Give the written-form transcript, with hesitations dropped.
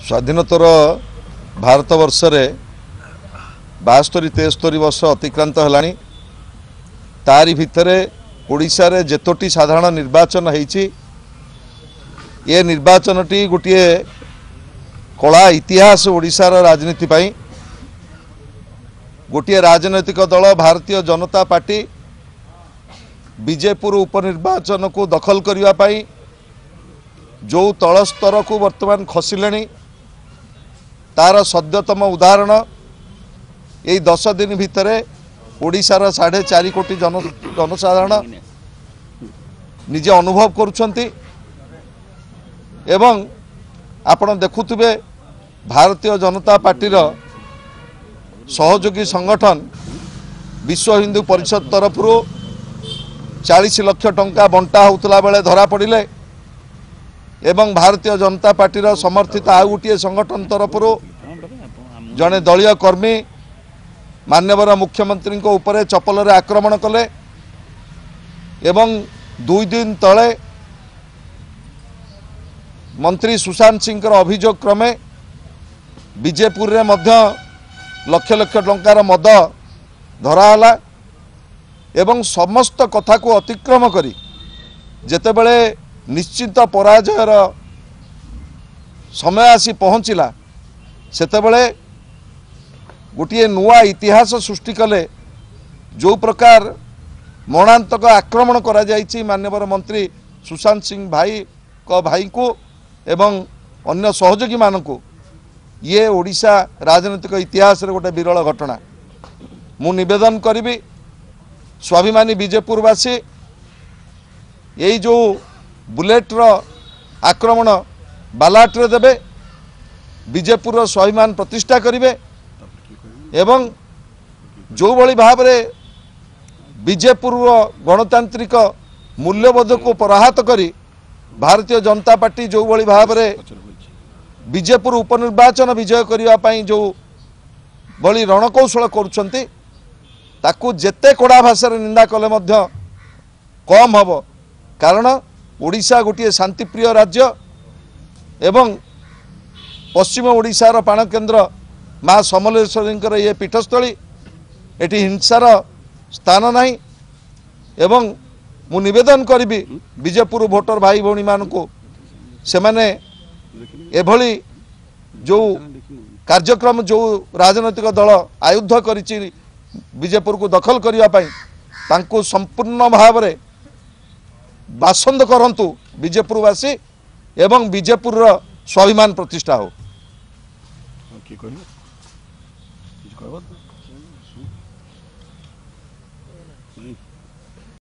ସ୍ୱାଧୀନୋତ୍ତର ଭାରତବର୍ଷରେ 72 73 ବର୍ଷ ଅତିକ୍ରାନ୍ତ ହେଲାଣି। ତାରି ଭିତରେ ଓଡ଼ିଶାରେ ଯେତୋଟି ସାଧାରଣ ନିର୍ବାଚନ ହେଇଛି, ଏ ନିର୍ବାଚନଟି ଗୋଟିଏ କଳା ଇତିହାସ ଓଡ଼ିଶାର ରାଜନୀତି ପାଇଁ। ଗୋଟିଏ ରାଜନୈତିକ ଦଳ ଭାରତୀୟ ଜନତା ପାର୍ଟି ବିଜେପୁର ଉପନିର୍ବାଚନକୁ ଦଖଲ କରିବା ପାଇଁ ଯେଉଁ ତଳ ସ୍ତରକୁ ବର୍ତ୍ତମାନ ଖସିଲେଣି, ତାର ସଦ୍ୟତମ ଉଦାହରଣ ଏଇ 10 ଦିନ ଭିତରେ ଓଡ଼ିଶାର 4.5 କୋଟି ଜନସାଧାରଣ ନିଜେ ଅନୁଭବ କରୁଛନ୍ତି। ଏବଂ ଆପଣ ଦେଖୁଥିବେ, ଭାରତୀୟ ଜନତା ପାର୍ଟିର ସହଯୋଗୀ ସଂଗଠନ ବିଶ୍ୱ ହିନ୍ଦୁ ପରିଷଦ ତରଫରୁ 40 ଲକ୍ଷ ଟଙ୍କା ବଣ୍ଟା ହେଉଥିଲା ବେଳେ ଧରା ପଡ଼ିଲେ, ଏବଂ ଭାରତୀୟ ଜନତା ପାର୍ଟିର ସମର୍ଥିତ ଆଉ ଗୋଟିଏ ସଂଗଠନ ତରଫରୁ ଜଣେ ଦଳୀୟ କର୍ମୀ ମାନ୍ୟବର ମୁଖ୍ୟମନ୍ତ୍ରୀଙ୍କ ଉପରେ ଚପଲରେ ଆକ୍ରମଣ କଲେ। ଏବଂ 2 ଦିନ ତଳେ ମନ୍ତ୍ରୀ ସୁଶାନ୍ତ ସିଂଙ୍କର ଅଭିଯୋଗ କ୍ରମେ ବିଜେପୁରରେ ମଧ୍ୟ ଲକ୍ଷ ଲକ୍ଷ ଟଙ୍କାର ମଦ ଧରାହେଲା। ଏବଂ ସମସ୍ତ କଥାକୁ ଅତିକ୍ରମ କରି ଯେତେବେଳେ ନିଶ୍ଚିତ ପରାଜୟର ସମୟ ଆସି ପହଞ୍ଚିଲା, ସେତେବେଳେ ଗୋଟିଏ ନୂଆ ଇତିହାସ ସୃଷ୍ଟି କଲେ। ଯେଉଁ ପ୍ରକାର ମରଣାନ୍ତକ ଆକ୍ରମଣ କରାଯାଇଛି ମାନ୍ୟବର ମନ୍ତ୍ରୀ ସୁଶାନ୍ତ ସିଂ ଭାଇଙ୍କ ଭାଇଙ୍କୁ ଏବଂ ଅନ୍ୟ ସହଯୋଗୀମାନଙ୍କୁ, ଇଏ ଓଡ଼ିଶା ରାଜନୈତିକ ଇତିହାସରେ ଗୋଟେ ବିରଳ ଘଟଣା। ମୁଁ ନିବେଦନ କରିବି, ସ୍ୱାଭିମାନୀ ବିଜେପୁରବାସୀ ଏଇ ଯେଉଁ ବୁଲେଟ୍ର ଆକ୍ରମଣ ବାଲାଟରେ ଦେବେ, ବିଜେପୁରର ସ୍ୱାଭିମାନ ପ୍ରତିଷ୍ଠା କରିବେ। ଏବଂ ଯେଉଁଭଳି ଭାବରେ ବିଜେପୁରର ଗଣତାନ୍ତ୍ରିକ ମୂଲ୍ୟବୋଧକୁ ପରାହତ କରି ଭାରତୀୟ ଜନତା ପାର୍ଟି ଯେଉଁଭଳି ଭାବରେ ବିଜେପୁର ଉପନିର୍ବାଚନ ବିଜୟ କରିବା ପାଇଁ ଯେଉଁ ଭଳି ରଣକୌଶଳ କରୁଛନ୍ତି, ତାକୁ ଯେତେ କଡ଼ା ଭାଷାରେ ନିନ୍ଦା କଲେ ମଧ୍ୟ କମ୍ ହେବ। କାରଣ ଓଡ଼ିଶା ଗୋଟିଏ ଶାନ୍ତିପ୍ରିୟ ରାଜ୍ୟ ଏବଂ ପଶ୍ଚିମ ଓଡ଼ିଶାର ପ୍ରାଣକେନ୍ଦ୍ର ମା ସମଲେଶ୍ୱରୀଙ୍କର ଇଏ ପୀଠସ୍ଥଳୀ, ଏଠି ହିଂସାର ସ୍ଥାନ ନାହିଁ। ଏବଂ ମୁଁ ନିବେଦନ କରିବି ବିଜେପୁର ଭୋଟର ଭାଇ ଭଉଣୀମାନଙ୍କୁ, ସେମାନେ ଏଭଳି ଯେଉଁ କାର୍ଯ୍ୟକ୍ରମ ଯେଉଁ ରାଜନୈତିକ ଦଳ ଆୟୁଧ କରିଛି ବିଜେପୁରକୁ ଦଖଲ କରିବା ପାଇଁ, ତାଙ୍କୁ ସମ୍ପୂର୍ଣ୍ଣ ଭାବରେ ବାସନ୍ଦ କରନ୍ତୁ ବିଜେପୁରବାସୀ ଏବଂ ବିଜେପୁରର ସ୍ୱାଭିମାନ ପ୍ରତିଷ୍ଠା ହଉ। କିଏ କହିବ? କିଛି କହିବ?